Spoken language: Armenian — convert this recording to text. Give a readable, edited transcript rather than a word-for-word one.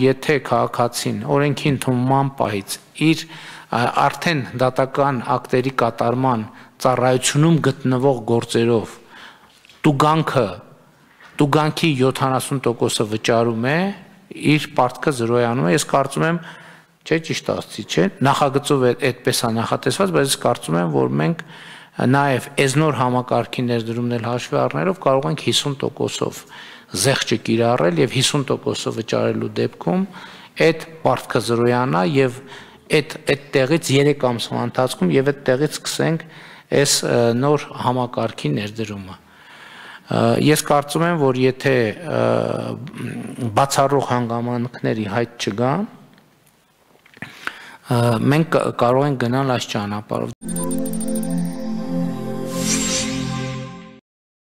Եթե քաղաքացին օրենքի ընդունման պահից իր արդեն դատական ակտերի կատարման ծառայությունում գտնվող գործերով տուգանքի 70%-ը վճարում է, իր պարտքը զրոյանում է, ես կարծում եմ, չէ, ճիշտ ասացի, չէ, նախագծով այդպես է նախատեսված, բայց ես կարծում եմ, որ մենք նաև էզնոր համակարգի ներդրումն էլ հաշվի առնելով կարող ենք 50%-ով զեղչը կիրառել եւ 50%-ը վճարելու դեպքում այդ պարտքը զրոյանա եւ այդ տեղից 3 ամսվա ընթացքում եւ այդ տեղից սկսենք այս նոր համակարգի ներդրումը։ Ես կարծում եմ, որ եթե բացառող հանգամանքների հայտ չգան, մենք կարող ենք գնալ այս ճանապարհով։